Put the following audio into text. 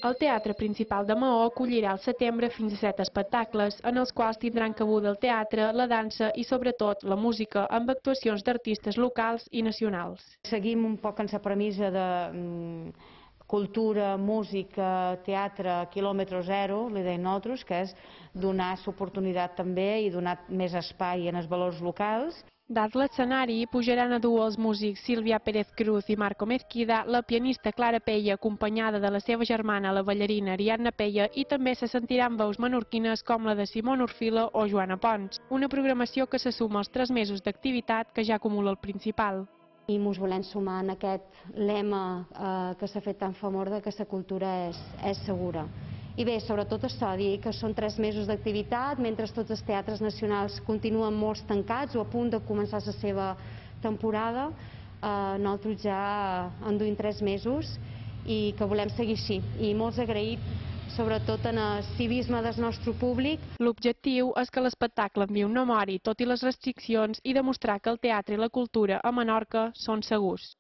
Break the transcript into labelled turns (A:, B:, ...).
A: El Teatre Principal de Maó acollirà al setembre fins a 7 espectacles, en els quals tindran cabuda el teatre, la dansa i, sobretot, la música, amb actuacions d'artistes locals i nacionals.
B: Seguim un poc en la premissa de cultura, música, teatre, quilòmetre zero, li deim nosaltres, que és donar l'oportunitat també i donar més espai en els valors locals.
A: Dalt l'escenari, pujaran a dur els músics Sílvia Pérez Cruz i Marco Mezquida, la pianista Clara Peia, acompanyada de la seva germana, la ballarina Ariadna Peia, i també se sentiran veus menorquines com la de Simón Orfila o Joana Pons. Una programació que se suma als 3 mesos d'activitat que ja acumula el Principal.
C: I ens volem sumar en aquest lema que s'ha fet tan famós de que la cultura és segura. I bé, sobretot això, dir que són 3 mesos d'activitat, mentre tots els teatres nacionals continuen molts tancats o a punt de començar la seva temporada. Nosaltres ja enduim 3 mesos i que volem seguir així. I molt agraït, sobretot en el civisme del nostre públic.
A: L'objectiu és que l'espectacle enviï un memori, tot i les restriccions, i demostrar que el teatre i la cultura a Menorca són segurs.